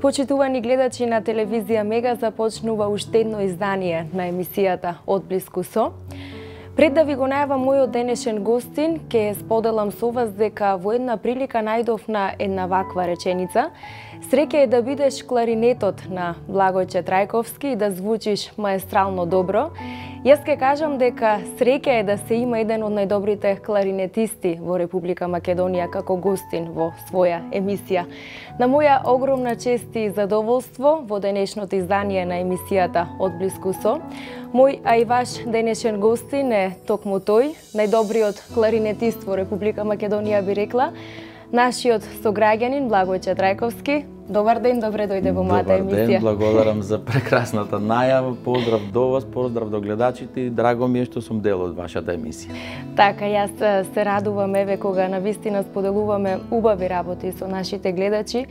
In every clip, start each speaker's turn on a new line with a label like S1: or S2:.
S1: Почитувани гледачи на телевизија Мега, започнува уште едно издание на емисијата Одблиску со. Пред да ви го најавам мојот денешен гостин, ќе споделам со вас дека во една прилика најдов на една ваква реченица: среќа е да бидеш кларинетот на Благојче Трајковски и да звучиш маестрално добро. Јас ке кажам дека среќа е да се има еден од најдобрите кларинетисти во Република Македонија како гостин во своја емисија. На моја огромна чест и задоволство во денешното издание на емисијата Одблиску со, мој, а и ваш денешен гостин е токму тој, најдобриот кларинетист во Република Македонија, би рекла, нашиот сограѓанин Благојче Трајковски. Добар ден, добре дојде во мојата емисија.
S2: Добар ден, благодарам за прекрасната најава. Поздрав до вас, поздрав до гледачите и драго ми е што сум дел од вашата емисија.
S1: Така, јас се радувам еве кога навистина споделуваме убави работи со нашите гледачи.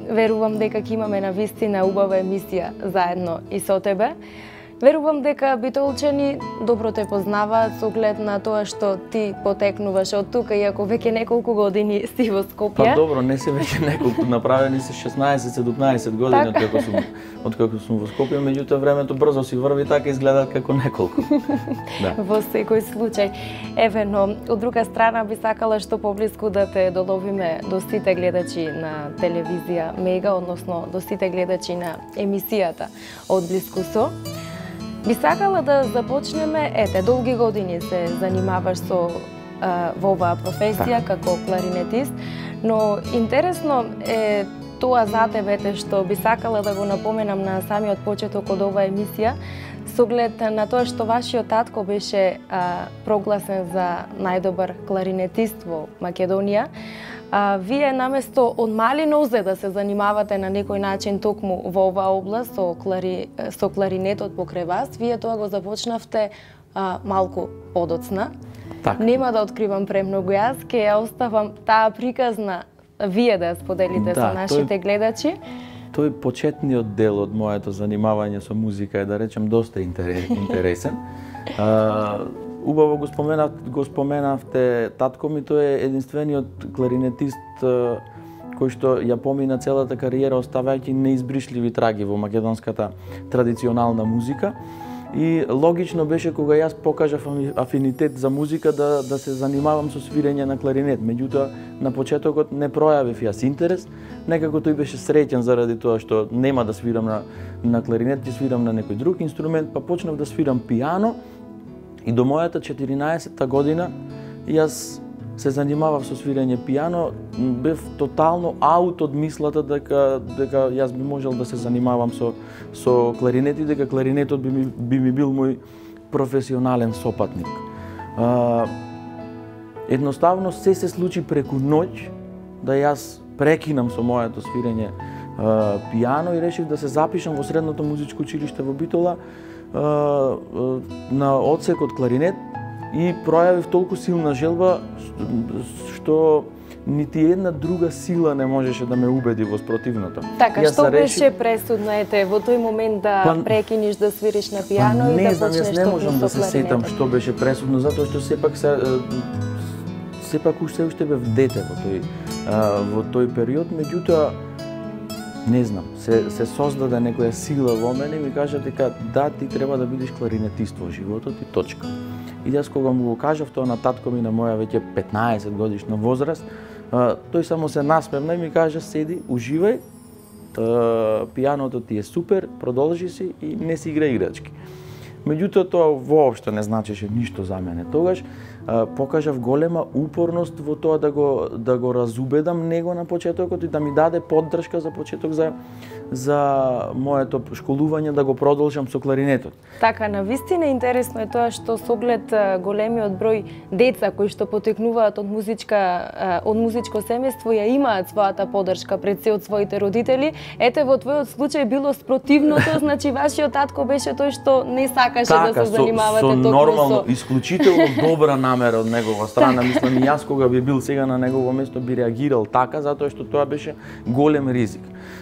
S1: Верувам дека ќе имаме навистина убава емисија заедно и со тебе. Верувам дека битолчани добро те познаваат со оглед на тоа што ти потекнуваш од тука, иако веќе неколку години си во Скопје.
S2: Па добро, не се веќе неколку, направени се 16-17 години од како сум во Скопје, меѓутоа времето брзо си врви, така изгледаат како неколку.
S1: Да. Во секој случај. Еве, но од друга страна би сакала што поблиску да те доловиме до сите гледачи на телевизија Мега, односно до сите гледачи на емисијата Одблиску со. Би сакала да започнеме, долги години се занимаваш со во оваа професија како кларинетист, но интересно е тоа за тебе што би сакала да го напоменам на самиот почеток од оваа емисија, со оглед на тоа што вашиот татко беше прогласен за најдобар кларинетист во Македонија. Вие наместо од мали нозе да се занимавате на некој начин токму во оваа област со кларинетот покрај вас, вие тоа го започнавте малку подоцна. Так. Нема да откривам премногу јас, ќе ја оставам таа приказна вие да ја споделите со нашите гледачи.
S2: Тој почетниот дел од моето занимавање со музика е, да речем, доста интересен. Убаво го споменавте, татко ми тој е единствениот кларинетист кој што ја помина целата кариера оставајќи неизбришливи траги во македонската традиционална музика. И логично беше кога јас покажав афинитет за музика да се занимавам со свирење на кларинет. Меѓутоа, на почетокот не пројавив јас интерес. Некако тој беше среќен заради тоа што нема да свирам на кларинет, ќе свирам на некој друг инструмент, па почнав да свирам пијано. И до мојата 14-та година јас се занимавав со свирење пијано, бев тотално аут од мислата дека јас би можел да се занимавам со кларинет и дека кларинетот би ми бил мој професионален сопатник. Едноставно се случи преку ноќ да јас прекинам со моето свирење пијано и решив да се запишам во средното музичко училиште во Битола на одсек од кларинет и пројавив толку силна желба што нити една друга сила не можеше да ме убеди во спротивното.
S1: Така, што беше пресудно во тој момент да прекиниш да свириш на пијано и да почнеш
S2: со кларинетот? Не можам да се сетам што беше пресудно, затоа што сепак уште бев дете во тој период, меѓутоа не знам, се создаде некоја сила во мене и ми кажа дека да, ти треба да бидеш кларинетист во животот и точка. И јас кога му го кажав тоа на татко ми на моја веќе 15 годишна возраст, тој само се насмевна и ми кажа: седи, уживај, пијаното ти е супер, продолжи си и не си игра играчки. Меѓутоа тоа воопшто не значеше ништо за мене. Тогаш покажав голема упорност во тоа да го разубедам него на почетокот и да ми даде поддршка за почеток за моето школување да го продолжам со кларинетот.
S1: Така, навистина интересно е тоа што со оглед големиот број деца кои што потекнуваат од музичко семејство ја имаат својата поддршка пред се од своите родители. Ете, во твојот случај било спротивното, значи вашиот татко беше тој што не сакаше да се занимавате
S2: токму со нормално, исклучително добра намера од негова страна. Мислам, и јас кога би бил сега на негово место би реагирал така, затоа што тоа беше голем ризик.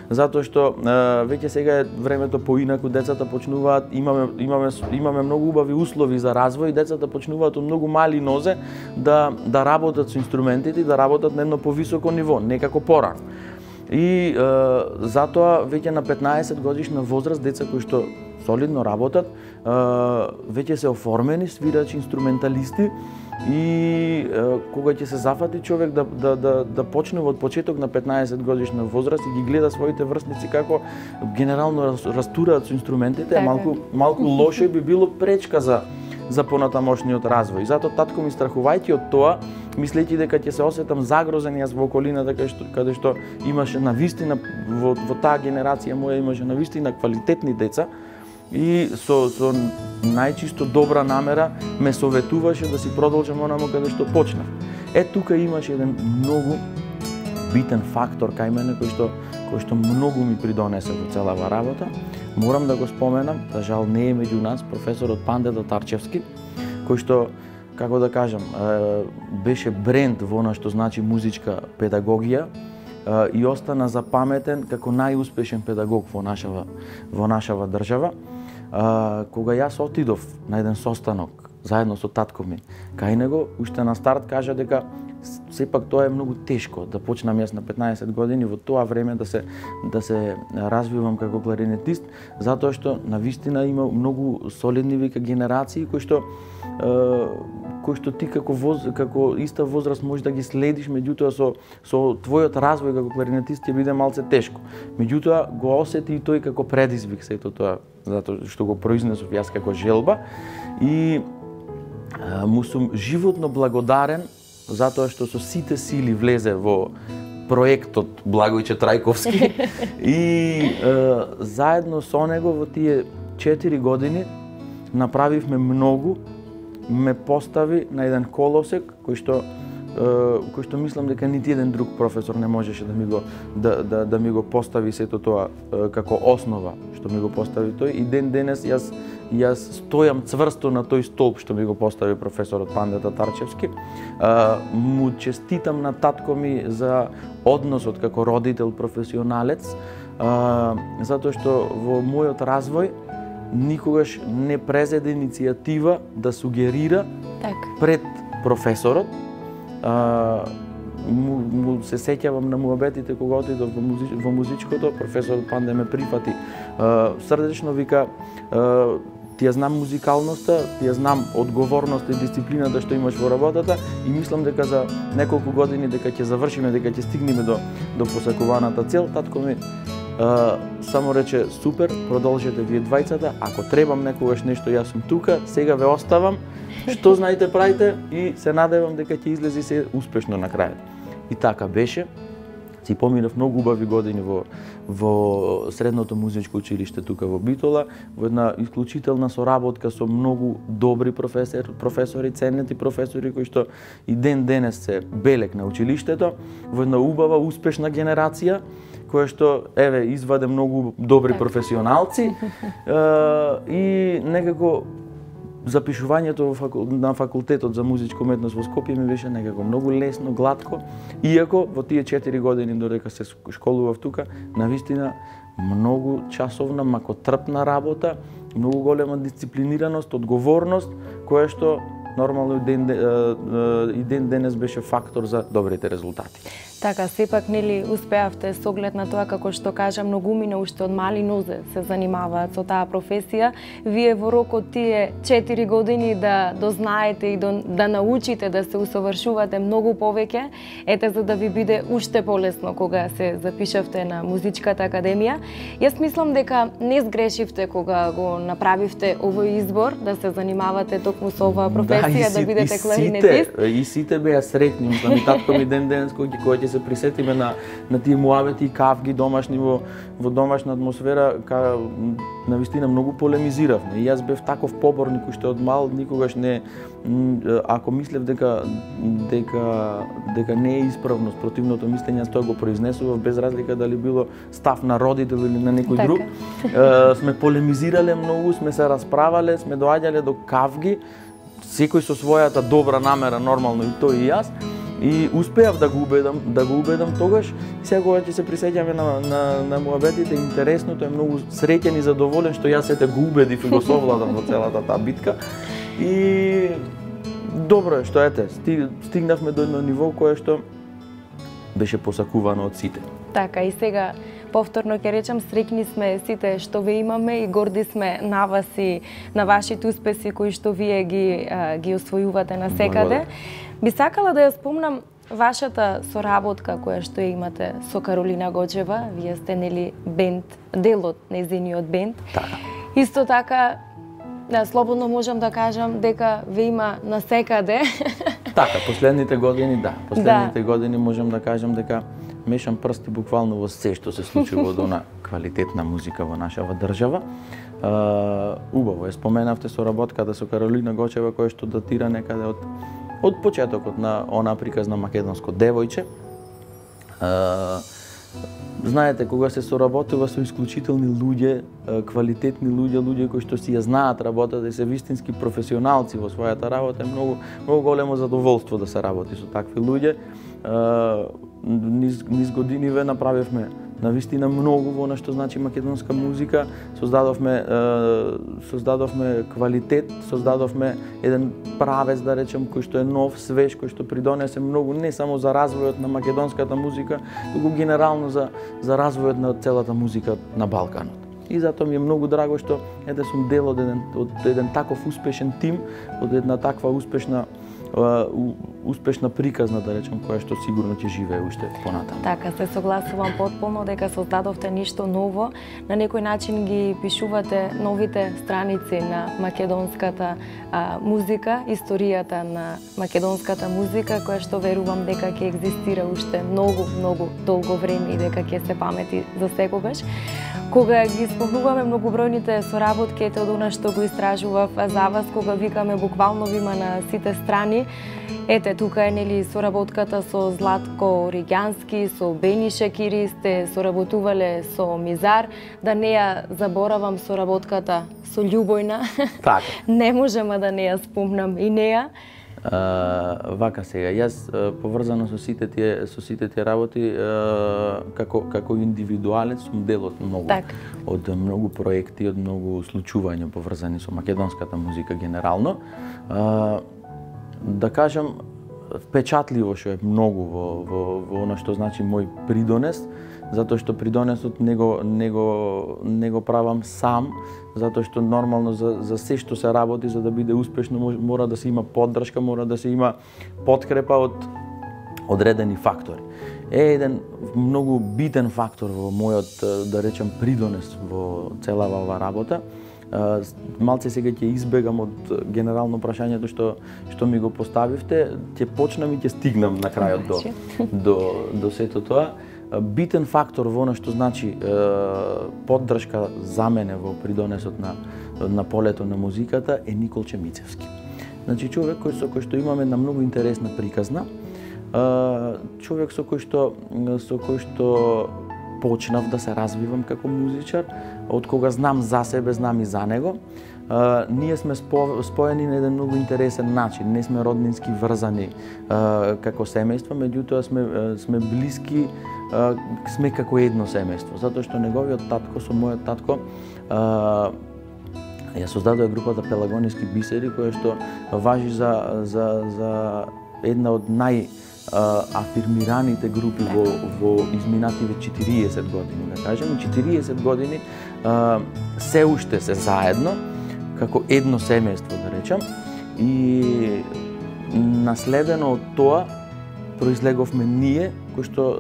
S2: Затоа што веќе сега е времето поинаку, децата почнуваат, имаме многу убави услови за развој, децата почнуваат од многу мали нозе да работат со инструментите и да работат на едно повисоко ниво, некако порано. И затоа веќе на 15 годишна возраст деца кои што солидно работат, веќе се оформени свирачи, инструменталисти и кога ќе се зафати човек да почне од почеток на 15 годишна возраст и ги гледа своите врсници како генерално растураат со инструментите, малку лошо би било пречка за понатамошниот развој. Затоа татко ми, страхувајќи од тоа, мислејќи дека ќе се осетам загрозен јас во околината каде што имаше навистина во таа генерација моја имаше навистина квалитетни деца, и со најчисто добра намера ме советуваше да си продолжам онамо каде што почнав. Тука имаше еден многу битен фактор кај мене кој што многу ми придонесе во целава работа. Морам да го споменам, за жал не е меѓу нас, професорот Панде Татарчевски, кој што, како да кажам, беше бренд во она што значи музичка педагогија и остана запаметен како најуспешен педагог во нашава држава. Кога јас отидов на еден состанок заедно со татко ми кај него, уште на старт кажа дека сепак тоа е многу тешко да почнам јас на 15 години во тоа време да се развивам како кларинетист, затоа што навистина има многу солидни вика генерации кои што ти како иста возраст можеш да ги следиш, меѓутоа со твојот развој како кларинетист ќе биде малце тешко. Меѓутоа го осети и тој како предизвик сето тоа, затоа што го произнесов јас како желба и му сум животно благодарен затоа што со сите сили влезе во проектот Благојче Трајковски и заедно со него во тие 4 години направивме многу, ме постави на еден колосек кој што мислам дека нити еден друг професор не можеше да ми го постави сето тоа како основа што ми го постави тој и ден денес јас стојам цврсто на тој столб што ми го постави професорот Панде Татарчевски. Му честитам на татко ми за односот како родител професионалец, затоа што во мојот развој никогаш не презеде иницијатива да сугерира пред професорот. Му се сеќавам на муабетите кога отидов во музичкото, професорот Панде ме прифати срдечно, вика ти ја знам музикалноста, ти ја знам одговорноста и дисциплината што имаш во работата и мислам дека за неколку години дека ќе завршиме, дека ќе стигнеме до посакуваната цел. Татко ми само рече супер, продолжете вие двајцата, ако требам некогаш нешто јас сум тука, сега ве оставам, што знаете правите и се надевам дека ќе излези се успешно на крајот. И така беше. Си поминав многу убави години во средното музичко училиште тука во Битола, во една исклучителна соработка со многу добри професори, ценети професори кои што и ден денес се белек на училиштето, во една убава, успешна генерација која што изваде многу добри професионалци и некако запишувањето на факултетот за музичка уметност во Скопје ми беше некако многу лесно, глатко, иако во тие 4 години додека се школував тука, навистина многу часовна, макотрпна работа, многу голема дисциплинираност, одговорност, која што нормално и ден денес беше фактор за добрите резултати.
S1: Така, сепак нели успеавте со оглед на тоа како што кажа многумина уште од мали нозе се занимаваат со таа професија, вие во рокот тие 4 години да дознаете и да научите да се усовршувате многу повеќе, за да ви биде уште полесно кога се запишавте на музичката академија. Јас мислам дека не сгрешивте кога го направивте овој избор да се занимавате токму со оваа професија, да бидете кларинетист.
S2: И сите беа среќни, мислам и татко ми ден денес кој ќе се присетиме на тие муабети и кавги домашни во домашна атмосфера, навистина многу полемизиравме. И јас бев таков поборник уште од мал, никогаш не, ако мислев дека не е исправно спротивното мислење, јас тоа го произнесував без разлика дали било став на родител или на некој друг. Сме полемизирале многу, сме се расправале, сме доаѓале до кавги, секој со својата добра намера, нормално и тој и јас. И успеав да го убедам тогаш. Сега кога ќе се присеќаме на муабетите, интересното е многу среќен и задоволен што јас ете го убедив и го совладам во целата таа битка. И добро е што стигнавме до едно ниво кое што беше посакувано од сите.
S1: Така, и сега повторно ќе речам, среќни сме сите што ве имаме и горди сме на вас и на вашите успеси кои што вие ги освојувате на секаде. Би сакала да ја спомнам вашата соработка која што ја имате со Каролина Гочева. Вие сте нели бенд, дел од нејзиниот бенд.
S2: Така.
S1: Исто така, слободно можам да кажам дека ве има на секаде.
S2: Така, последните години, да. Последните години можам да кажам дека мешам прсти буквално во се што се случува од она квалитетна музика во нашава држава. Убаво е споменавте соработката со Каролина Гочева која што датира некаде од почетокот на она приказно македонско девојче. Знаете, кога се соработува со исклучителни луѓе, квалитетни луѓе кои што си ја знаат работата и се вистински професионалци во својата работа, е многу големо задоволство да се работи со такви луѓе. Низ години ве направивме навистина многу во она што значи македонска музика, создадовме квалитет, создадовме еден правец, да речем, кој што е нов, свеж, кој што придонесе многу не само за развојот на македонската музика, туку генерално за развојот на целата музика на Балканот. И затоа ми е многу драго што сум дел од еден таков успешен тим, од една таква успешна приказна, да речем, која што сигурно ќе живее уште понатаму.
S1: Така, се согласувам потполно дека создадовте ништо ново, на некој начин ги пишувате новите страници на македонската музика, историјата на македонската музика, која што верувам дека ќе екзистира уште многу долго време и дека ќе се памети за секогаш. Кога ги спомнуваме многобројните соработки, од она што го истражував за вас, кога викаме буквално вима на сите страни, ете, тука е нели соработката со Златко Оригјански, со Бени Шакири, сте соработувале со Мизар, да не ја заборавам соработката со Љубојна.
S2: Така.
S1: Не можам да не ја спомнам и неа.
S2: Вака сега, јас поврзано со сите тие работи како индивидуалец сум дел од многу проекти, од многу случувања поврзани со македонската музика генерално. Да кажам, впечатливо што е многу во она што значи мој придонес, затоа што придонесот не го правам сам, затоа што нормално за се што се работи, за да биде успешно, мора да се има поддршка, мора да се има подкрепа од одредени фактори. Еден многу битен фактор во мојот, да речем, придонес во целава ова работа. Малце сега ќе избегам од генерално прашањето што ми го поставивте, ќе почнам и ќе стигнам на крајот до сето тоа. Битен фактор во она што значи поддршка за мене во придонесот на полето на музиката е Николче Мицевски. Значи човек со кој што имаме една многу интересна приказна, човек со кој што почнав да се развивам како музичар, од кога знам за себе, знам и за него. Ние сме споени на еден многу интересен начин, не сме роднински врзани како семејство, меѓутоа сме блиски, сме како едно семејство, затоа што неговиот татко со мојот татко ја создадоа групата Пелагониски бисери, која што важи за една од афирмираните групи во изминативе 40 години, да кажем. 40 години се уште се заедно, како едно семејство, да речам, и наследено од тоа произлеговме ние, кои што,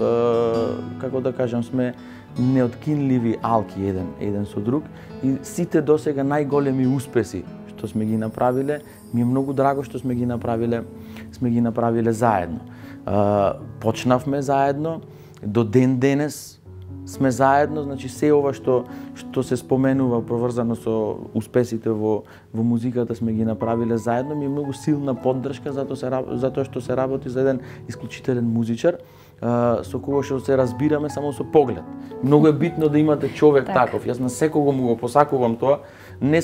S2: како да кажам, сме неоткинливи алки еден со друг, и сите досега најголеми успеси што сме ги направиле, ми е многу драго што сме ги направиле заедно. Почнавме заедно, до ден денес сме заедно, значи се ова што се споменува поврзано со успесите во музиката сме ги направиле заедно, ми е многу силна поддршка затоа што се работи за еден исклучителен музичар со кого што се разбираме само со поглед. Многу е битно да имате човек таков. Јас на секого му го посакувам тоа, не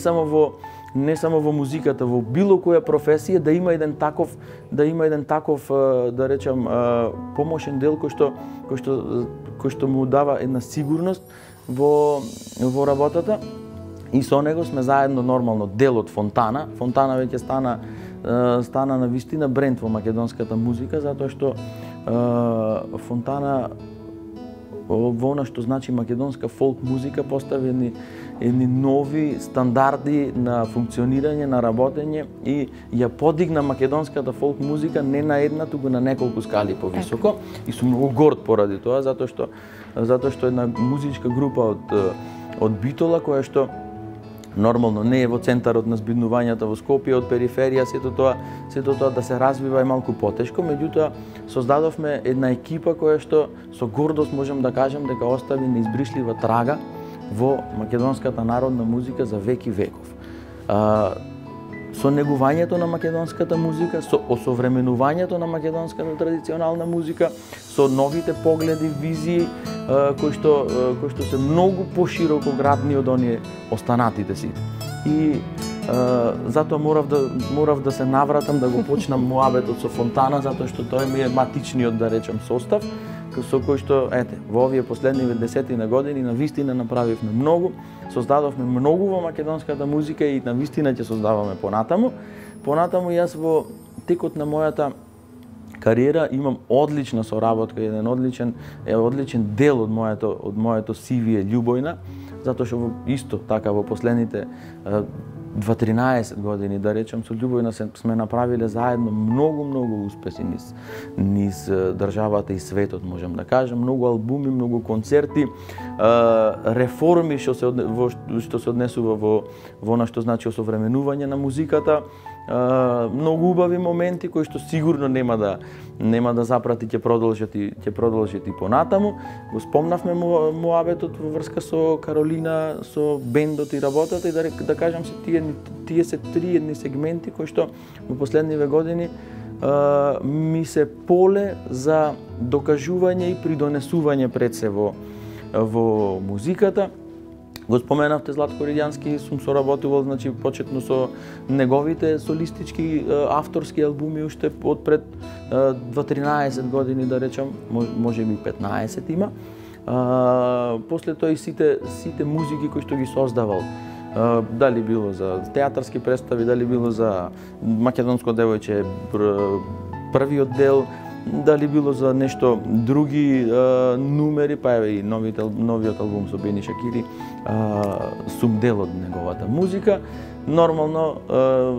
S2: само во музиката, во било која професија да има еден таков, да речам, помошен дел кој што му дава една сигурност во работата. И со него сме заедно нормално дел од Фонтана. Фонтана веќе стана на вистина бренд во македонската музика, затоа што Фонтана во она што значи македонска фолк музика постави едни нови стандарди на функционирање, на работење и ја подигна македонската фолк музика не на една, туку на неколку скали повисоко. И сум многу горд поради тоа, затоа што една музичка група од Битола, која што нормално не е во центарот на збиднувањата во Скопје, од периферија, сето тоа да се развива е малку потешко, меѓутоа создадовме една екипа која што со гордост можам да кажам дека остави неизбришлива трага во македонската народна музика за веки веков. Со негувањето на македонската музика, со осовременувањето на македонската традиционална музика, со новите погледи, визии кои што се многу пошироко градни од оние останатите сите. И затоа морав да се навратам да го почнам муабетот со Фонтана, затоа што тој ми е матичниот, да речем, состав, со кој што, во овие последниве 10 години навистина направивме многу, создадовме многу во македонската музика и навистина ќе создаваме понатаму. Понатаму јас во текот на мојата кариера имам одлична соработка, еден одличен дел од моето CV е Љубојна, затоа што исто така во последните 13 години, да речем, со Љубојна сме направиле заедно многу успеси низ државата и светот, можам да кажам, многу албуми, многу концерти, реформи што се однесува во она што значи осовременување на музиката, многу убави моменти кои што сигурно нема да запрати, ќе продолжат и понатаму. Го спомнавме муабетот во врска со Каролина, со бендот и работата, и да кажам се тие се три едни сегменти кои што во последниве години ми се поле за докажување и придонесување пред се во музиката. Го споменавте Златко Ридјански, сум соработувал, значи, почетно со неговите солистички авторски албуми уште од пред 13 години, да речам, може би 15 има. После тоа и сите музики кои што ги создавал, дали било за театарски представи, дали било за Македонско девојче првиот дел, дали било за нешто други нумери, па еве и новиот албум со Бени Шакири, сум дел од неговата музика. Нормално,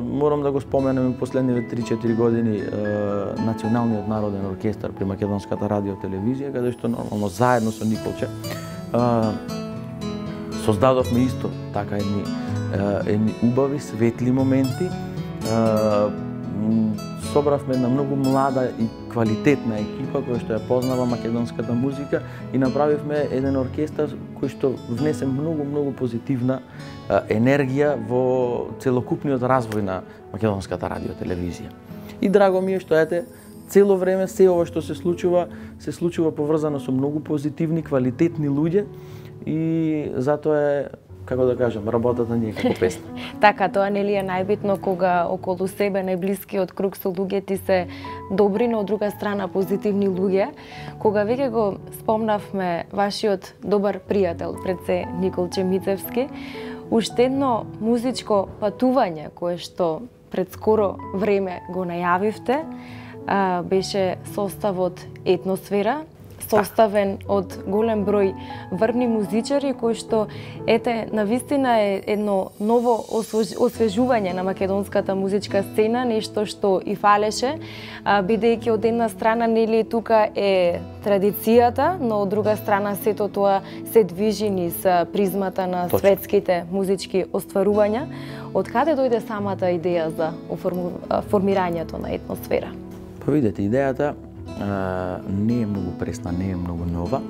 S2: морам да го споменам и последниве 3-4 години Националниот народен оркестар при Македонската радио телевизија, каде што нормално заедно со Николче создадовме исто така едни убави, светли моменти. Собравме една многу млада и квалитетна екипа која што ја познава македонската музика и направивме еден оркестар кој што внесе многу позитивна енергија во целокупниот развој на македонската радио телевизија. И драго ми е што цело време се ова што се случува поврзано со многу позитивни, квалитетни луѓе и затоа е, како да кажам, работата ни е како песна.
S1: Така, тоа нели е најбитно кога околу себе најблискиот круг со луѓе ти се добри, но од друга страна позитивни луѓе. Кога веќе го спомнавме вашиот добар пријател, пред се Николче Мицевски, уште едно музичко патување кое што пред скоро време го најавивте, беше составот Етносфера, составен од голем број врвни музичари кои што навистина е едно ново освежување на македонската музичка сцена, нешто што и фалеше, бидејќи од една страна нели тука е традицијата, но од друга страна сето тоа се движи низ призмата на светските музички остварувања. Од каде дојде самата идеја за формирањето на Етносфера?
S2: Па видете, идејата не е многу пресна, не е многу нова.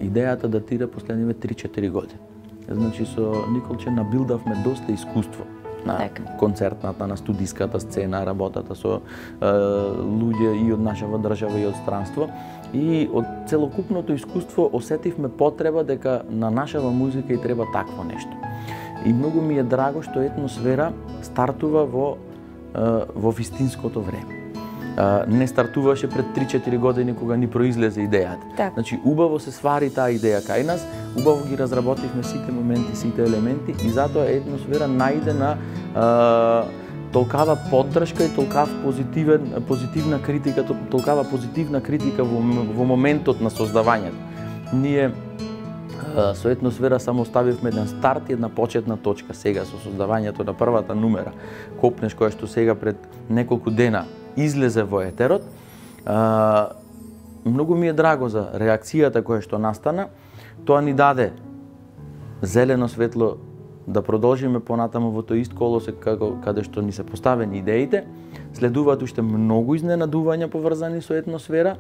S2: Идејата датира последниве 3-4 години. Значи, со Николче набилдавме доста искуство на концертната, на студиската сцена, работата со луѓе и од нашава држава и од странство. И од целокупното искуство осетивме потреба дека на нашава музика и треба такво нешто. И многу ми е драго што Етносфера стартува во вистинското време. Не стартуваше пред 3-4 години кога ни произлезе идејата. Значи, убаво се свари таа идеја кај нас, убаво ги разработивме сите моменти, сите елементи и затоа Етносфера најде на толкава поддршка и толкава позитивна критика во моментот на создавањето. ние со Етносфера само ставивме еден старт и една почетна точка. Сега со создавањето на првата numera Копнеш, која што сега пред неколку дена излезе во етерот, многу ми е драго за реакцијата која што настана. Тоа ни даде зелено светло да продолжиме понатаму во тој ист колосек каде што ни се поставени идеите. Следуваат уште многу изненадувања поврзани со Етносфера.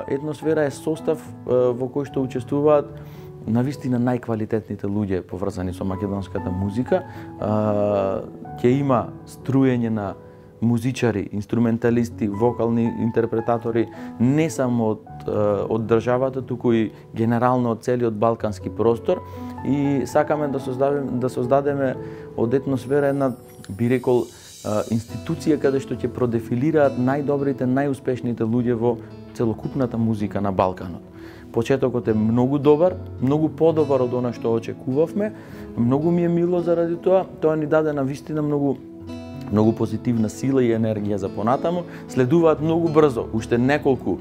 S2: Етносфера е состав во кој што учествуваат навистина најквалитетните луѓе поврзани со македонската музика. Ќе има струење на музичари, инструменталисти, вокални интерпретатори не само од државата, туку и генерално од целиот балкански простор, и сакаме да создадеме од Етносфера една, би рекол, институција каде што ќе продефилираат најдобрите, најуспешните луѓе во целокупната музика на Балканот. Почетокот е многу добар, многу подобар од она што очекувавме. Многу ми е мило заради тоа. Тоа ни даде навистина многу позитивна сила и енергија за понатаму. Следуваат многу брзо уште неколку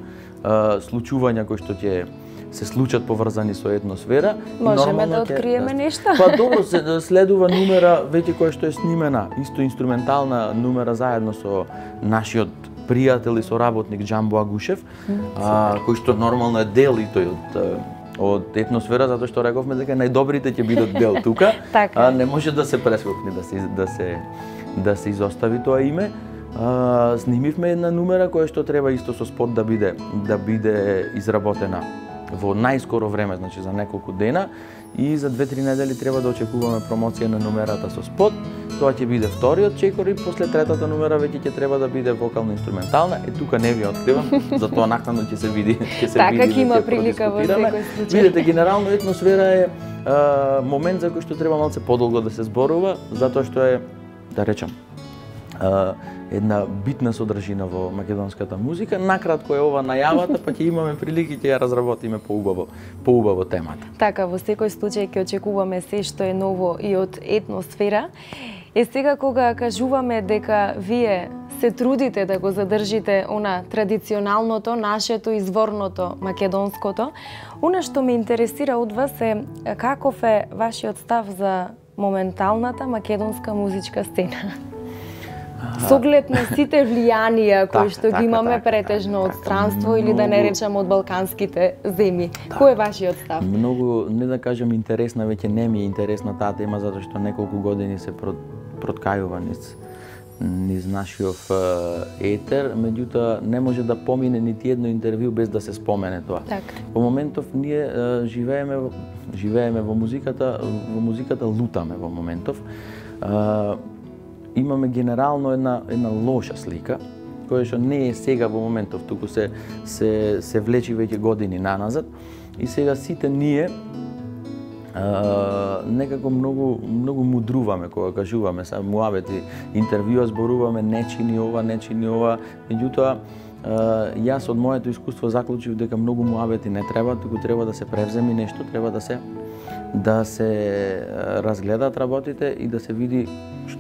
S2: случувања кои што ќе се случат поврзани со Етносфера.
S1: Можеме да откриеме нешто?
S2: Па добро, следува numera веќе која што е снимена, исто инструментална numera заедно со нашиот пријател и соработник Џамбо Агушев, кој што нормално е дел и тој од Етносфера, затоа што рековме дека најдобрите ќе бидат дел тука, не може да се прескокне, да се изостави тоа име. Снимивме една numera која што треба исто со спот да биде изработена во најскоро време, значи за неколку дена, и за 2-3 недели треба да очекуваме промоција на numерата со спот. Тоа ќе биде вториот чекор и после третата numera веќе ќе треба да биде вокално-инструментална. Тука не ви откривам, затоа накнадно ќе се види,
S1: така ќе има прилика во секој случај.
S2: Видете, генерално Етносфера е момент за кој што треба малце подолго да се зборува, затоа што е, да речам, една битна содржина во македонската музика. Накратко е ова најавата, па ќе имаме прилики ќе ја разработиме поубаво темата.
S1: Така, во секој случај ќе очекуваме се што е ново и од Етносфера. Сега кога кажуваме дека вие се трудите да го задржите она традиционалното, нашето изворното, македонското, она што ме интересира од вас е каков е вашиот став за моменталната македонска музичка сцена? Со оглед на сите влијанија кои што ги имаме претежно од странство или да не речам од балканските земји. Кој е вашиот став?
S2: Многу, не да кажам интересна, веќе не ми е интересна таа тема, затоа што неколку години се проткајува низ нашиот етер, меѓутоа не може да помине нити едно интервју без да се спомене тоа. Во моментов ние живееме во музиката лутаме во моментов. Имаме генерално една лоша слика, која што не е сега во моментов, туку се влечи веќе години наназад, и сега сите ние некако многу мудруваме кога кажуваме, са муавети, интервјуа зборуваме, не чини ова, меѓутоа јас од моето искуство заклучив дека многу муавети не треба, туку треба да се превземи нешто, треба да се разгледаат работите и да се види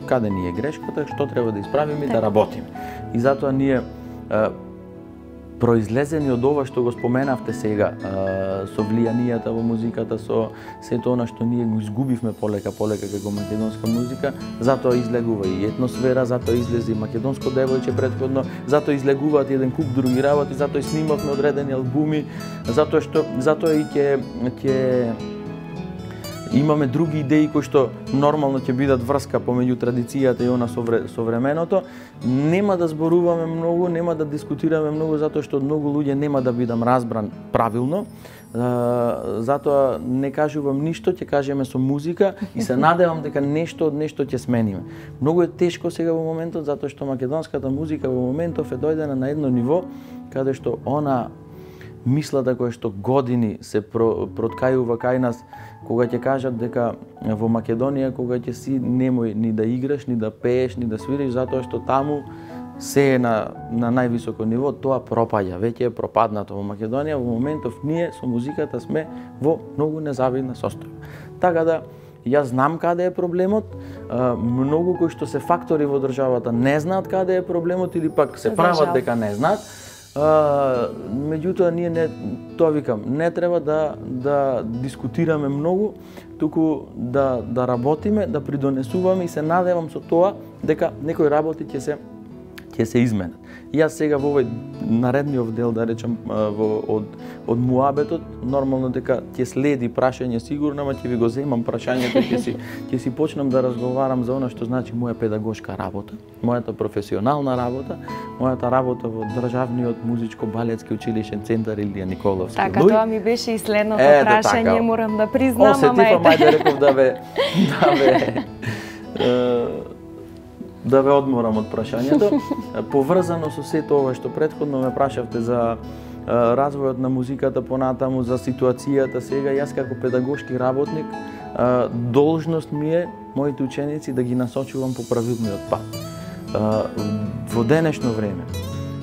S2: каде ни е грешката, што треба да исправиме и да работиме. И затоа ние произлезени од ова што го споменавте сега, со влијанијата во музиката, со сето она што ние го изгубивме полека како македонска музика, затоа излегува и Етносфера, затоа излезе и Македонско девојче претходно, затоа излегуваат еден куп други работи, затоа и снимавме одредени албуми, затоа и ќе имаме други идеи кои што нормално ќе бидат врска помеѓу традицијата и она современото. Нема да зборуваме многу, нема да дискутираме многу, затоа што од многу луѓе нема да бидам разбран правилно. Затоа не кажувам ништо, ќе кажеме со музика и се надевам дека нешто од нешто ќе смениме. Многу е тешко сега во моментот, затоа што македонската музика во моментов е дојдена на едно ниво каде што она мислата која што години се проткајува кај нас, кога ќе кажат дека во Македонија кога ќе си немој ни да играш, ни да пееш, ни да свириш, затоа што таму се е на највисоко ниво, тоа пропаѓа, веќе е пропаднато во Македонија. Во моментов ние со музиката сме во многу незавидна состојба. Така да јас знам каде е проблемот, многу кои што се фактори во државата не знаат каде е проблемот или пак се прават дека не знаат. Меѓутоа ние тоа викам, не треба да дискутираме многу, туку да работиме, да придонесуваме и се надевам со тоа дека некои работи ќе се изменат. И јас сега во овој наредниот дел, да речем, од муабетот, нормално дека ќе следи прашање сигурно, ама ќе ви го земам прашањето и ќе си почнам да разговарам за она што значи моја педагошка работа, мојата професионална работа, мојата работа во Државниот музичко-балетски училишен центар Илија Николовски.
S1: Така, тоа ми беше и следното прашање, морам да признам,
S2: осетив, мајде реков да ве одморам од прашањето. Поврзано со сето ова што претходно ме прашавте за развојот на музиката понатаму, за ситуацијата сега, јас како педагошки работник, должност ми е моите ученици да ги насочувам по правилниот пат. Во денешно време,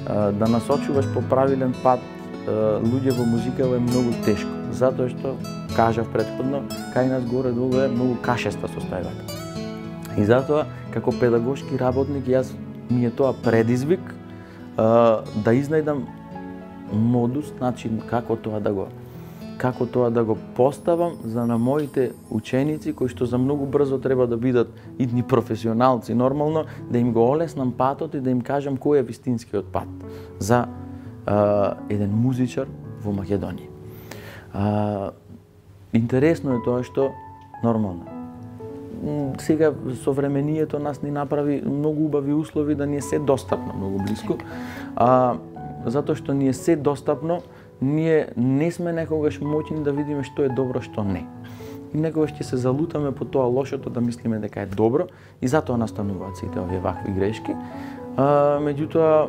S2: да насочуваш по правилен пат луѓе во музикава е многу тешко, затоа што, кажав претходно, кај нас горе-долу е многу кашеста состојбата. И затоа, како педагошки работник, ми е тоа предизвик да изнајдам модус, начин како тоа да го поставам за на моите ученици кои што за многу брзо треба да бидат идни професионалци, нормално да им го олеснам патот и да им кажам кој е вистинскиот пат за еден музичар во Македонија. Интересно е тоа што нормално сега современието нас ни направи многу убави услови да ни е се достапно многу блиску. Затоа што ни е се достапно, ние не сме некогаш моќни да видиме што е добро, што не. И некогаш ќе се залутаме по тоа лошото да мислиме дека е добро и затоа настануваат сите овие вакви грешки. Меѓутоа,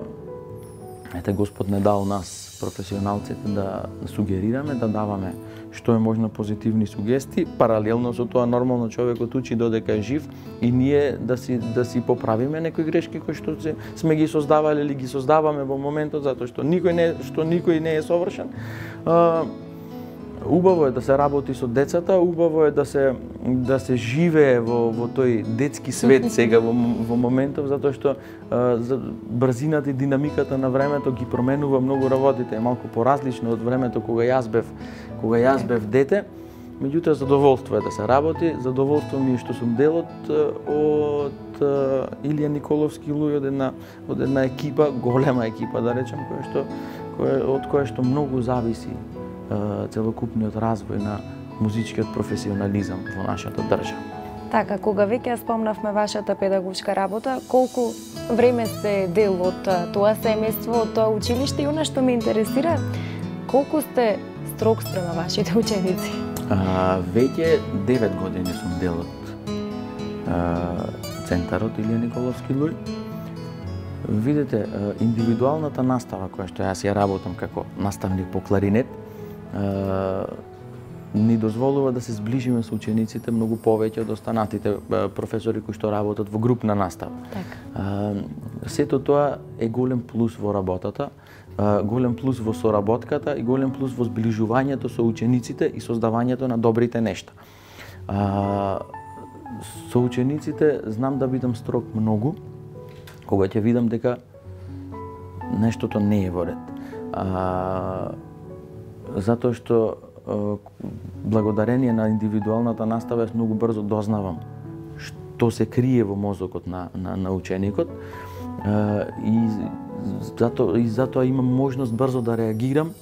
S2: Господ не дал нас, професионалците, да сугерираме, да даваме што е можно позитивни сугестии, паралелно со тоа нормално човекот учи додека е жив и ние да си поправиме некои грешки кои што сме ги создавале или ги создаваме во моментот, затоа што никој не е совршен. Убаво е да се работи со децата, убаво е да се живее во тој детски свет сега во моментов, затоа што брзината и динамиката на времето ги променува многу работите, е малку поразлично од времето кога јас бев дете. Меѓутоа задоволство е да се работи, задоволство ми е што сум дел од Илија Николовски луѓе, од една екипа, голема екипа да речем, од која што многу зависи целокупниот развој на музичкиот професионализам во нашата држава.
S1: Така, кога веќе спомнавме вашата педагошка работа, колку време сте дел од тоа семејство, од тоа училиште и она што ме интересира, колку сте строг спрема вашите ученици?
S2: Веќе 9 години сум дел од центарот Илија Николовски луѓе. Видете, индивидуалната настава која што јас ја работам како наставник по кларинет, ни дозволува да се зближиме со учениците многу повеќе од останатите професори кои што работат во групна настава. Сето тоа е голем плюс во работата, голем плюс во соработката и голем плюс во зближувањето со учениците и создавањето на добрите нешта. Со учениците знам да бидам строг многу, кога ќе видам дека нештото не е во ред. Затоа што благодарение на индивидуалната настава јас многу брзо дознавам што се крие во мозокот на ученикот и затоа имам можност брзо да реагирам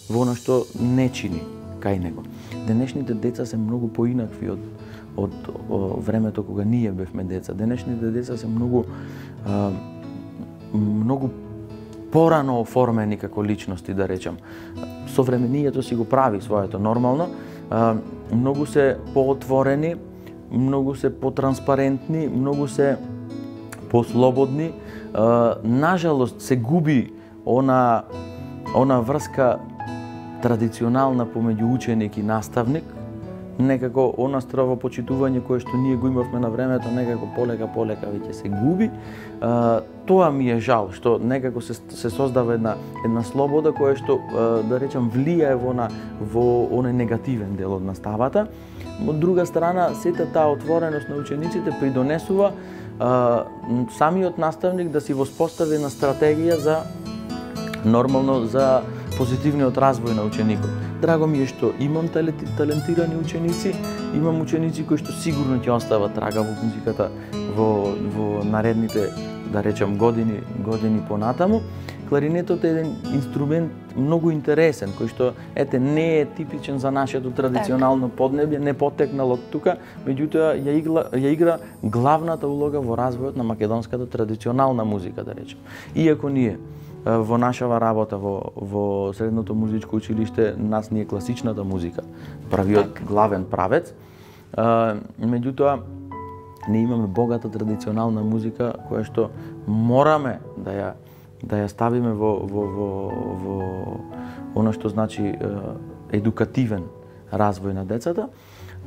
S2: во она што не чини кај него. Денешните деца се многу поинакви од времето кога ние бевме деца. Денешните деца се многу порано оформени како личности, да речем. Современието си го прави своето нормално, многу се поотворени, многу се потранспарентни, многу се послободни. Нажалост се губи она врска традиционална помеѓу ученик и наставник, некако она стравопочитување кое што ние го имавме на времето, некако полека веќе се губи. Тоа ми е жал, што некако се создава една слобода која што, да речем, влијае во оној негативен дел од наставата. Од друга страна, сета таа отвореност на учениците придонесува самиот наставник да си воспостави една стратегија за нормално за позитивниот развој на ученикот. Драго ми е што имам талентирани ученици, имам ученици кои што сигурно ќе остават трага во музиката во наредните, да речем, години понатаму. Кларинетот е еден инструмент многу интересен, кој што не е типичен за нашето традиционално поднебје, не потекнал од тука, меѓутоа ја игра главната улога во развојот на македонската традиционална музика, да речем. Иако ние во нашава работа во средното музичко училиште нас ни е класичната музика, правиот главен правец, меѓутоа не имаме богата традиционална музика која што мораме да ја ставиме во она што значи едукативен развој на децата.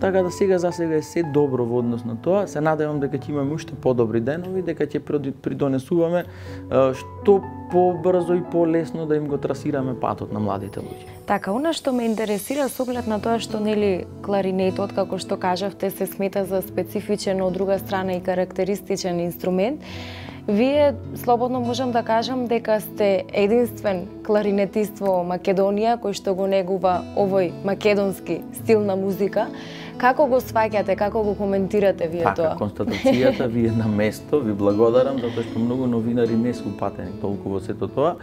S2: Така да сега за сега е се добро во однос на тоа. Се надевам дека ќе имаме уште подобри денови, дека ќе придонесуваме што побрзо и полесно да им го трасираме патот на младите луѓе.
S1: Така, она што ме интересира со оглед на тоа што нели кларинетот, како што кажавте, се смета за специфичен, од друга страна и карактеристичен инструмент. Вие слободно можам да кажам дека сте единствен кларинетист во Македонија кој што го негува овој македонски стил на музика. Како го сваќате, како го коментирате вие тоа?
S2: Констатацијата ви е на место, ви благодарам затоа што многу новинари не се упатени толку во сето тоа.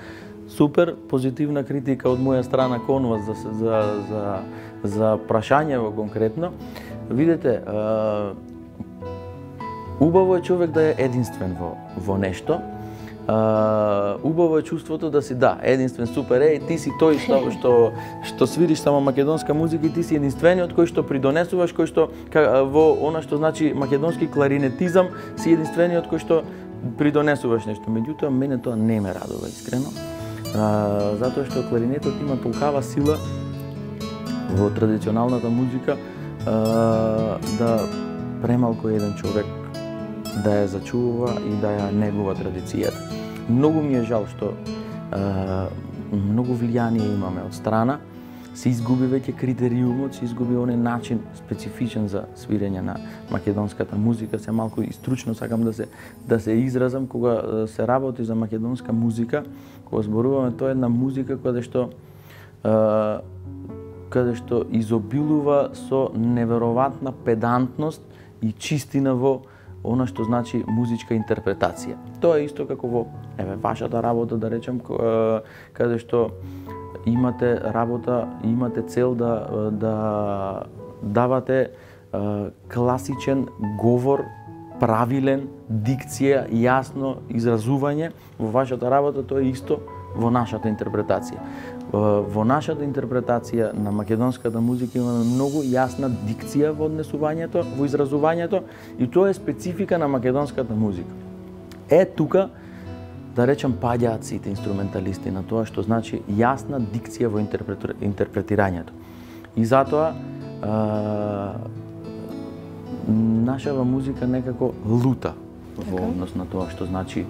S2: Супер позитивна критика од моја страна кон вас за прашањево конкретно. Видете, убаво е човек да е единствен во нешто. Убаво е чувството да си единствен, супер, ти си тој што свириш само македонска музика и ти си единствениот кој што придонесуваш, кој што во она што значи македонски кларинетизам си единствениот кој што придонесуваш нешто. Меѓутоа мене тоа не ме радува искрено. Затоа што кларинетот има толкава сила во традиционалната музика да премалку еден човек да ја зачува и да ја негува традицијата. Многу ми е жал што многу влијание имаме од страна, се изгуби веќе критериумот, се изгуби оној начин специфичен за свирење на македонската музика. Се малку и стручно сакам да се изразам кога се работи за македонска музика, кога зборуваме, тоа е една музика каде што изобилува со неверојатна педантност и чистина во она што значи музичка интерпретација. Тоа е исто како во вашата работа, да речем, каде што имате работа, имате цел да давате класичен говор, правилен, дикција, јасно изразување. Во вашата работа тоа е исто во нашата интерпретација. Во нашата интерпретација на македонската музика имаме многу јасна дикција во однесувањето, во изразувањето, и тоа е специфика на македонската музика. Тука, да речем, паѓаат сите инструменталисти на тоа што значи јасна дикција во интерпретирањето. И затоа нашава музика некако лута во однос на тоа што значи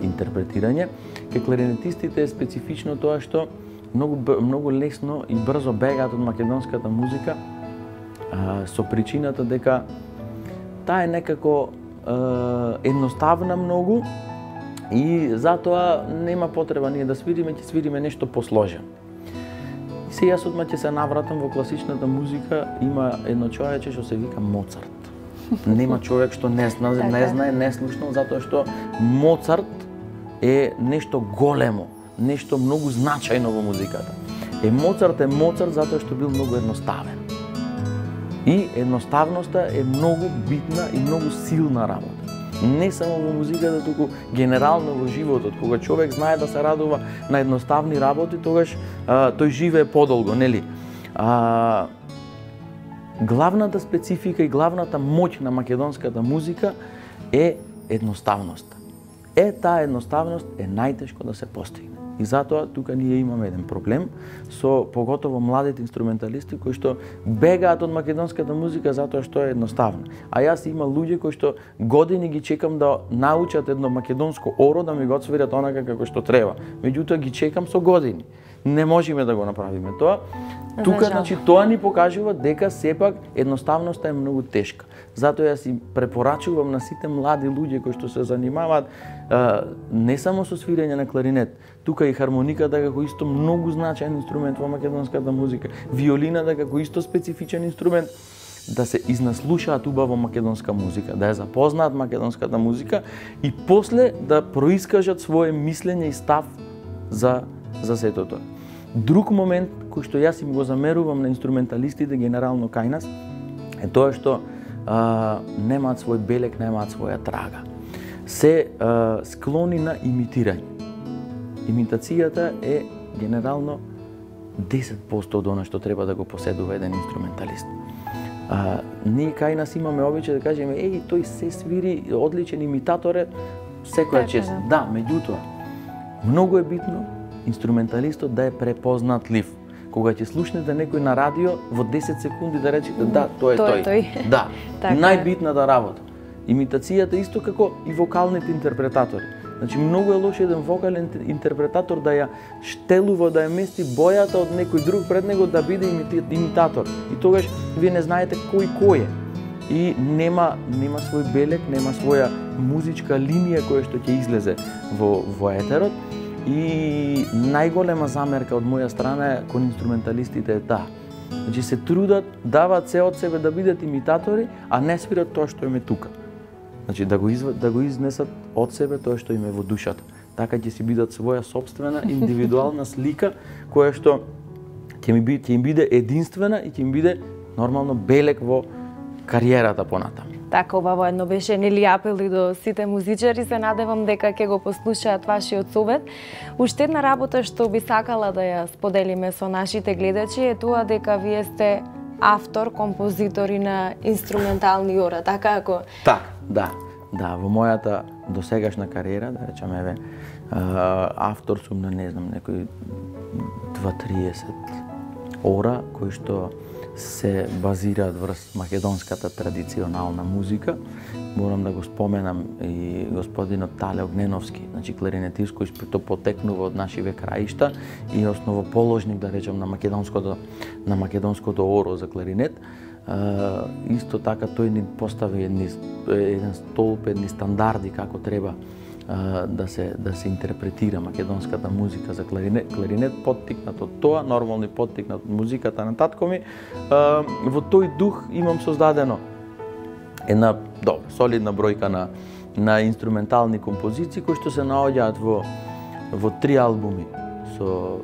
S2: интерпретирање. Кај кларинетистите е специфично тоа што многу лесно и брзо бегаат од македонската музика со причината дека таа е некако едноставна многу и затоа нема потреба ние да свириме, ќе свириме нешто посложено. Се јас одма ќе се навратам во класичната музика, има едно човече што се вика Моцарт. Нема човек што не знае, не слушнал, затоа што Моцарт е нешто големо, нешто многу значајно во музиката. Моцарт е Моцарт затоа што бил многу едноставен. И едноставноста е многу битна и многу силна работа. Не само во музиката, туку генерално во животот. Кога човек знае да се радува на едноставни работи, тогаш тој живее подолго, нели? Главната специфика и главната моќ на македонската музика е едноставноста. Таа едноставност е најтешко да се постигне. И затоа тука ние имаме еден проблем со поготово младите инструменталисти кои што бегаат од македонската музика затоа што е едноставна. А јас има луѓе кои што години ги чекам да научат едно македонско оро да ми го отсвират онака како што треба. Меѓутоа ги чекам со години. Не можеме да го направиме тоа. Тука, значи, тоа ни покажува дека сепак едноставноста е многу тешка. Затоа јас си препорачувам на сите млади луѓе кои што се занимаваат не само со свирење на кларинет, тука и хармониката како исто многу значаен инструмент во македонската музика, виолината како исто специфичен инструмент, да се изнаслушаат убаво македонска музика, да ја запознаат македонската музика и после да проискажат свое мислење и став за сето тоа. Друг момент кој што јас им го замерувам на инструменталистите генерално кај нас е тоа што немаат свој белек, немаат своја трага. Се склони на имитирање. Имитацијата е генерално 10% од она што треба да го поседува еден инструменталист. Ние кај нас имаме обичај да кажеме, тој се свири, одличен имитатор е, секоја чест. Да, меѓутоа, многу е битно инструменталистот да е препознатлив. Кога ќе слушнете некој на радио, во 10 секунди да речете, да, тој е тој. Да, најбитната работа. Имитацијата исто како и вокалните интерпретатори. Значи, многу е лош еден вокален интерпретатор да ја штелува, да ја мести бојата од некој друг пред него да биде имитатор. И тогаш вие не знаете кој е. И нема свој белек, нема своја музичка линија која што ќе излезе во етерот. И најголема замерка од моја страна е кон инструменталистите е таа. Значи се трудат, даваат се од себе да бидат имитатори, а не свират тоа што им е тука. Значи да го изнесат од себе тоа што им е во душата. Така ќе си бидат своја собствена индивидуална слика која што ќе им биде единствена и ќе им биде нормално белек во кариерата понатаму.
S1: Така, убаво едно беше нели апел и до сите музичари, се надевам дека ќе го послушаат вашиот совет. Уште една работа што би сакала да ја споделиме со нашите гледачи е тоа дека вие сте автор, композитор и на инструментални ора, така ако?
S2: Така, да. Да, во мојата досегашна кариера, да речеме, автор сум на, не знам, некои 2-30 ора, кои што се базираат врз македонската традиционална музика. Морам да го споменам и господинот Тале Огненовски, значи кларинетист кој што потекнува од нашиве краишта и основоположник, да речем, на македонското оро за кларинет. Исто така тој ни постави еден столб, едни стандарди како треба да се интерпретира македонската музика за кларинет, поттикнат од тоа, нормално и поттикнат од музиката на татко ми. Во тој дух имам создадено една солидна бројка на инструментални композиции кои што се наоѓаат во 3 албуми со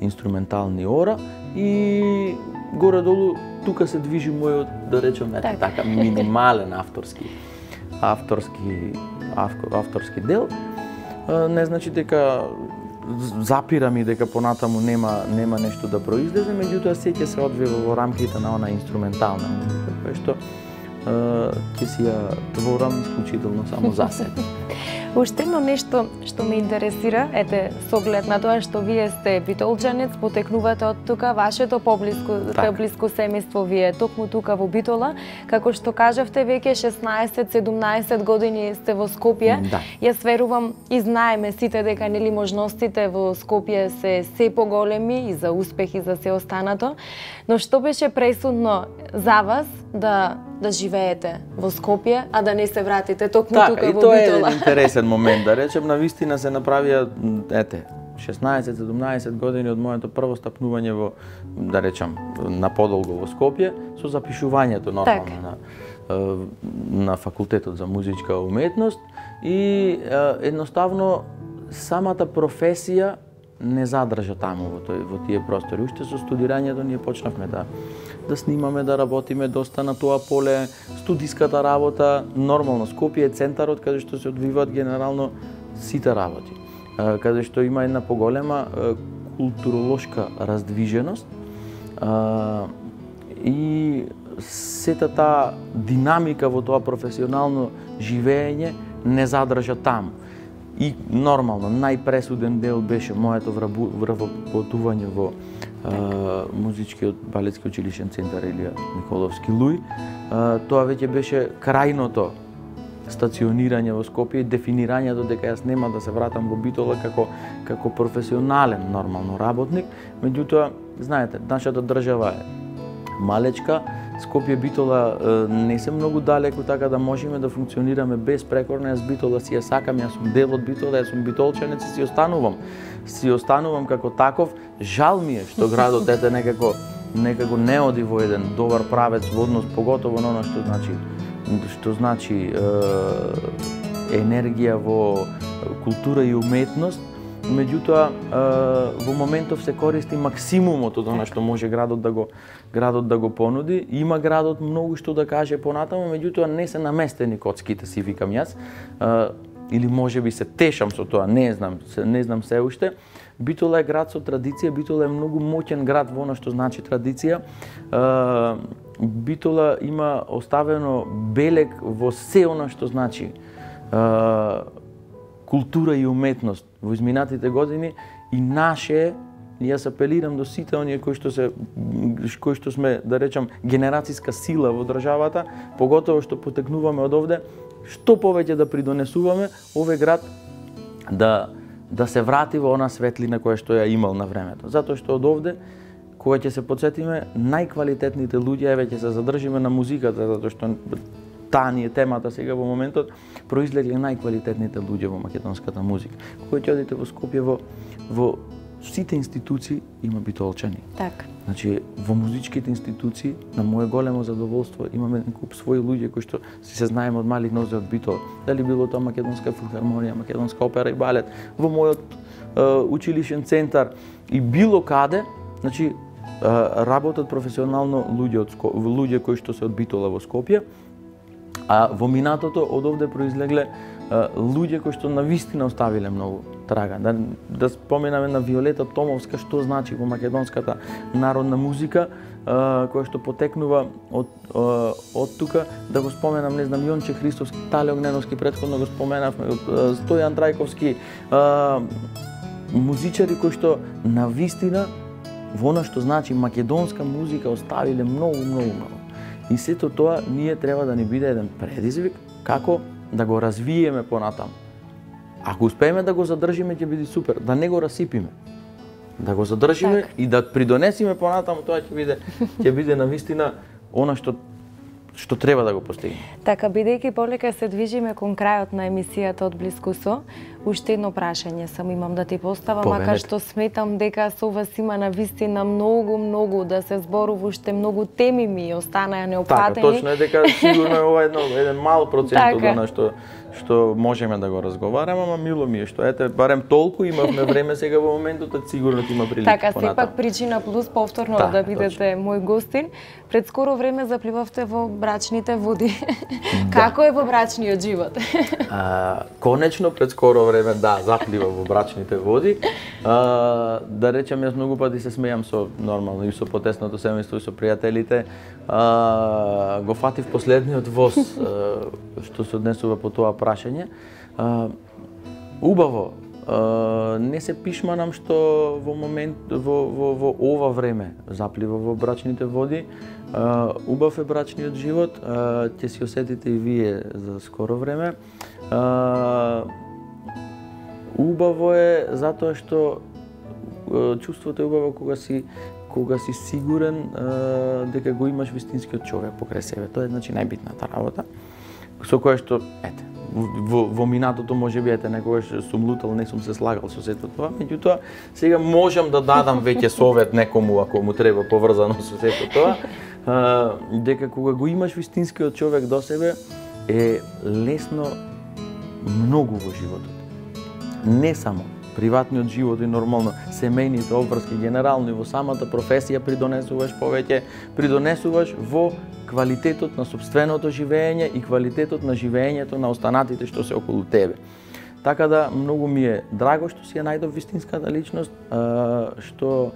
S2: инструментални ора и горе-долу тука се движи мојот, да речем, така минимален авторски дел. Не значи дека запирам и дека понатаму нема нешто да произлезе, меѓутоа се ќе се одвива во рамките на она инструментална музика, која што ќе си ја творам исклучително само за себе.
S1: Уште едно нешто што ме интересира, со оглед на тоа што вие сте битолчанец, потекнувате од тука, вашето поблиско семејство вие токму тука во Битола, како што кажавте, веќе 16-17 години сте во Скопје.
S2: Да.
S1: Јас верувам и знаеме сите дека нели можностите во Скопје се поголеми и за успех и за се останато, но што беше пресудно за вас да живеете во Скопје, а да не се вратите токму тука во Битола?
S2: Тоа е интересен момент, да речем, навистина се направија 16-17 години од моето прво стапнување во, да речем, на подолго во Скопје, со запишувањето нормално на факултетот за музичка уметност и едноставно самата професија не задржа таму во тие простори. Уште со студирањето ние почнавме да снимаме, да работиме доста на тоа поле, студиската работа, нормално Скопје е центарот каде што се одвиваат генерално сите работи, каде што има една поголема културолошка раздвиженост и сета таа динамика во тоа професионално живење не задржа таму. И нормално, најпресуден дел беше моето вработување во музичкиот балетски училишен центар Илија Николовски Луј. Тоа веќе беше крајното стационирање во Скопје и дефинирањето дека јас нема да се вратам во Битола како професионален нормално работник. Меѓутоа, знаете, нашата држава е малечка, Скопје Битола не се многу далеку, така да можеме да функционираме безпрекорно. Јас Битола си ја сакам, јас сум дел од Битола, јас сум битолчанец и си останувам. Си останувам како таков. Жал ми е што градот ете некако не оди во еден добар правец во однос, поготово на она што значи енергија во култура и уметност. Меѓутоа, во моментов се користи максимумот од она што може градот да го понуди. Има градот многу што да каже понатаму, меѓутоа не се наместени коцките, си викам јас. Или можеби се тешам со тоа, не знам се уште. Битола е град со традиција, Битола е многу моќен град во она што значи традиција. Битола има оставено белег во се она што значи култура и уметност во изминатите години и наше, јас апелирам до сите оние кои што сме, да речам, генерацијска сила во државата, поготово што потекнуваме од овде, што повеќе да придонесуваме овој град да се врати во она светлина која што ја имал на времето. Затоа што од овде, кога ќе се потсетиме, најквалитетните луѓе, еве ќе се задржиме на музиката, затоа што таа ни е темата сега во моментот, произлегле најквалитетните луѓе во македонската музика. Кога ќе одите во Скопје, во сите институции има битолчани.
S1: Така.
S2: Значи, во музичките институции, на мое големо задоволство, имаме еден куп своји луѓе кои што се знаеме од мали нозе од Битола. Дали било тоа Македонска филхармонија, Македонска опера и балет, во мојот училишен центар и било каде, значи, работат професионално луѓе кои што се од Битола во Скопје. А во минатото од овде произлегле луѓе кои што навистина оставиле многу трага. Да споменаме на Виолета Томовска, што значи во македонската народна музика, која што потекнува од тука. Да го споменам, не знам, Јонче Христовски, Тале Огненовски, претходно го споменавме, Стојан Трајковски, музичари кои што навистина во она што значи македонска музика оставиле многу. И сето тоа ние треба да ни биде еден предизвик како да го развиеме понатаму. Ако успееме да го задржиме, ќе биде супер, да не го расипиме. Да го задржиме и да придонесиме понатаму, тоа ќе биде навистина она што треба да го постигне.
S1: Така, бидејќи полека се движиме кон крајот на емисијата Од блискусо, уште едно прашање сам имам да ти поставам, макар што сметам дека со вас има навистина многу да се зборува, уште многу теми ми останаа неопфатени.
S2: Така, точно е дека сигурно е ова еден мал процент од она што можеме да го разговараме, ама мило ми е што ете барем толку имавме време сега во моментот, сигурно ќе има прилика
S1: понатаму. Така, сепак причина плюс повторно да бидете мој гостин. Пред скоро време запливавте во брачните води. Како е во брачниот живот?
S2: Конечно пред скоро време заплива во брачните води. Да речем, јас многу пати се смејам со нормално и со потесното семејство и со пријателите. Го фатив последниот воз што се однесува по тоа прашање. Убаво, не се пишманам што во ова време заплива во брачните води. Убав е брачниот живот, ќе си осетите и вие за скоро време. Убаво е затоа што чувството е убаво кога си сигурен дека го имаш вистинскиот човек покрај себе. Тоа е значи најбитната работа. Со која што во минатото можеби некогаш сум лутал, не сум се слагал со сето тоа, меѓутоа сега можам да дадам веќе совет некому ако му треба поврзано со сето тоа, дека кога го имаш вистинскиот човек до себе е лесно многу во животот. Не само приватниот живот и нормално семејните обврски, генерално и во самата професија придонесуваш повеќе, придонесуваш во квалитетот на сопственото живење и квалитетот на живењето на останатите што се околу тебе. Така да многу ми е драго што си ја најдов вистинската личност, што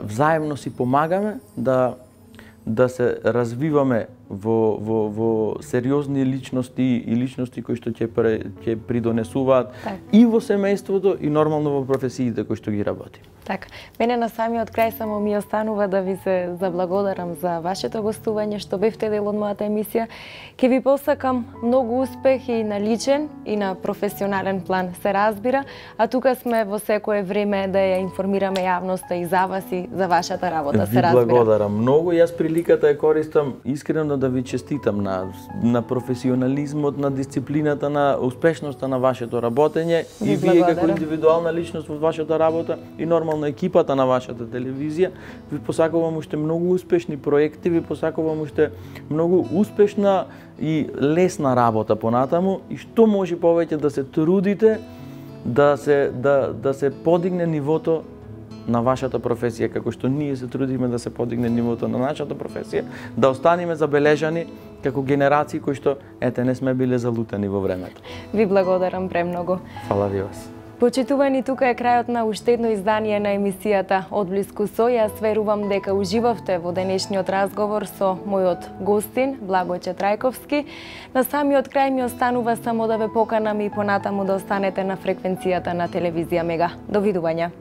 S2: взаемно си помагаме да се развиваме во сериозни личности и личности кои што ќе придонесуваат и во семејството и нормално во професиите кои што ги работи.
S1: Така, мене на самиот крај само ми останува да ви се заблагодарам за вашето гостување, што бевте дел од мојата емисија. Ке ви посакам многу успех и на личен и на професионален план, се разбира, а тука сме во секое време да ја информираме јавноста и за вас и за вашата работа, се разбира.
S2: Ви благодарам многу, јас приликата ја користам искрено да ви честитам на професионализмот, на дисциплината, на успешноста на вашето работење и вие како индивидуална личност во вашата работа и нормално екипата на вашата телевизија. Ви посакувам уште многу успешни проекти, ви посакувам уште многу успешна и лесна работа понатаму и што може повеќе да се трудите да се подигне нивото на вашата професија, како што ние се трудиме да се подигне нивото на нашата професија, да останеме забележани како генерации кои што не сме биле залутени во времето.
S1: Ви благодарам премногу.
S2: Фала ви вас.
S1: Почитувани, тука е крајот на уште едно издание на емисијата Одблиску со. Јас верувам дека уживавте во денешниот разговор со мојот гостин Благојче Трајковски. На самиот крај ми останува само да ве поканам и понатаму да останете на фреквенцијата на телевизија Мега. Довидување.